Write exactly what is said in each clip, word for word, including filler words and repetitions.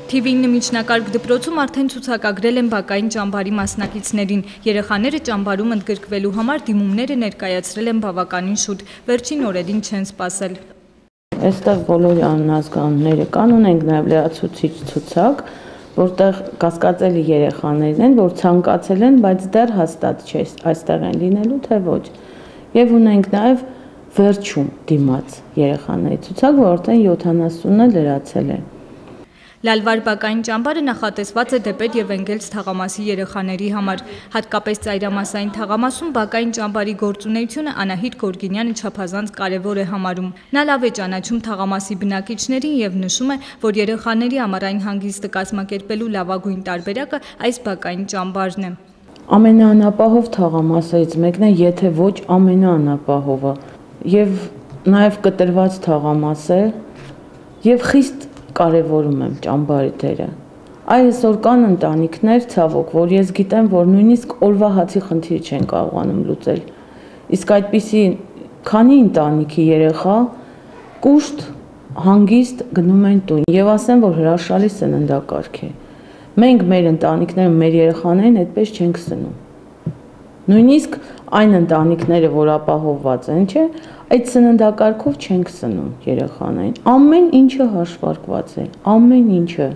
Թիվինը միջնակարգ դպրոցում արդեն ցուցակագրել են բակային ճամբարի մասնակիցներին։ Երեխաները ճամբարում ընդգրկվելու համար դիմումները ներկայացրել են բավականին շուտ, վերջին օրերին չեն սպասել։ Այստեղ բոլոր անհասկանալիները կան, ունենք նաև լրացուցիչ ցուցակ, որտեղ կասկածելի երեխաներն են, որ ցանկացել են, բայց դեռ հաստատ չէ այստեղ են լինելու, թե ոչ։ Եվ ունենք նաև վերջում դիմաց երեխաների ցուցակ, որ արդեն յոթանասունը լրացել է։ Լալվար բակային ճամբարը նախատեսված է դեպետ և Էնգելս թաղամասի երեխաների համար։ Հատկապես ծայրամասային թաղամասում բակային ճամբարի գործունեությունը Անահիտ Գորգինյանը չափազանց կարևոր է համարում։ Նա լավ է ճանաչում թաղամասի բնակիչներին և նշում է, որ երեխաների ամառային հանգիստը կազմակերպելու լավագույն տարբերակը այս բակային ճամբարն է։ Ամենաանապահով թաղամասերից մեկն է, եթե ոչ ամենաանապահովը, և նաև կտրված թաղամաս է, և խիստ կարևորում եմ ճամբարի դերը։ Այսօր կան ընտանիքներ, ցավոք, որ ես գիտեմ, որ նույնիսկ օրվա հացի խնդիրը չեն կարողանում լուծել։ Իսկ այդպիսի քանի ընտանիքի երեխա կուշտ, հանգիստ գնում են տուն եւ ասեմ, որ հրաշալի սննդակարգ է։ Մենք մեր ընտանիքները, մեր երեխաներին այդպես չենք սնում։ Նույնիսկ այն ընտանիքները, որ ապահովված են, չէ, այդ սննդակարգով չենք սնում երեխաներին։ Ամեն ինչը հաշվարկված է, ամեն ինչը։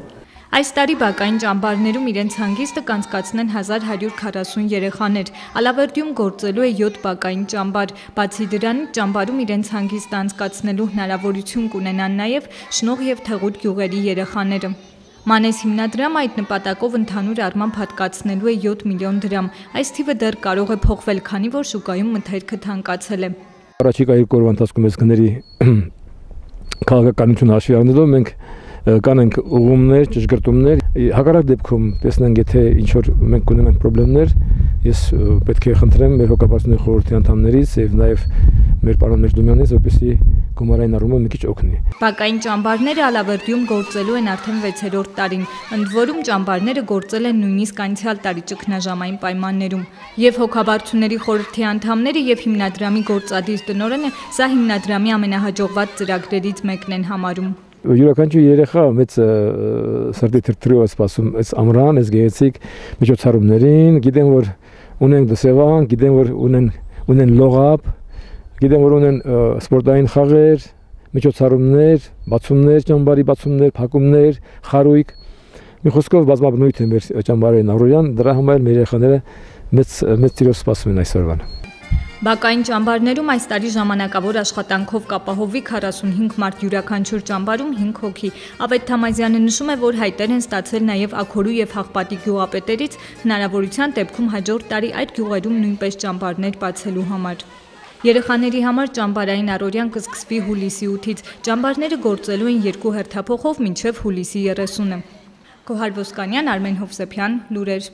Այս տարի բակային ճամբարներում իրենց հանգիստը կանցկացնեն հազար հարյուր քառասուն երեխաներ։ Ալավերդիում գործելու է յոթ բակային ճամբար։ Բացի դրանից ճամբարում իրենց հանգիստը անցկացնելու հնարավորություն կունենան նաև Շնող և Թեղուտ գյուղերի երեխաները։ Մանես հիմնադրամը այդ նպատակով ընդհանուր առմամբ հատկացնելու է յոթ միլիոն դրամ։ Այս թիվը դեռ կարող է փոխվել, քանի որ շուկայում մթերքը թանկացել է։ Առաջիկա երկու օրվա ընթացքում այս գների քաղաքականություն հաշվի առնելով մենք կանենք ուղումներ, ճշգրտումներ, հակառակ դեպքում տեսնենք, եթե ինչ-որ մենք կունենանք պրոբլեմներ, ես պետք է խնդրեմ մեր հոգաբարձությունների խորհրդի անդամներից եւ նաեւ մեր պարոն Մեջդումյանից, որպեսզի գումարային առումով մի քիչ օգնի։ Բակային ճամբարները Ալավերդիում գործելու են արդեն վեցերորդ տարին, ընդ որում ճամբարները գործել են նույնիսկ անցյալ տարի ճգնաժամային պայմաններում։ Եվ հոգաբարձությունների խորհրդի անդամները եւ հիմնադրամի գործադիր տնօրենը սա հիմնադրամի ամենահաջողված ծրագրերից մեկն են համարում։ Յուրաքանչյուր երեխա մեծ սրտի թրթրով է սպասում այս ամռան, այս գեղեցիկ միջոցառումներին, գիտեմ, որ ունեն դասավան, գիտեմ, որ ունեն ունեն լողապ, գիտեմ, որ ունեն սպորտային խաղեր, միջոցառումներ, բացումներ, ճամբարի բացումներ, փակումներ, խարույկ։ Մի խոսքով բազմաբնույթ է մեր ճամբարային առօրյան, դրա համար մեր երեխաները մեծ մեծ ծիրով սպասում են այսօրվան։ Բակային ճամբարներում այս տարի ժամանակավոր աշխատանքով կապահովվի քառասունհինգ մարդ, յուրաքանչյուր ճամբարում հինգ հոգի։ Ավետ Թամազյանը նշում է, որ հայտեր են ստացել նաև Աքորու եւ Հաղպատի գյուղապետերից հնարավորության դեպքում հաջորդ տարի այդ գյուղերում նույնպես ճամբարներ բացելու համար։ Երեխաների համար ճամբարային առօրյան կսկսվի հուլիսի ութից։ Ճամբարները գործելու են երկու հերթափոխով մինչև հուլիսի երեսունը։ Գոհար Ոսկանյան, Արմեն Հովսեփյան, լուրեր։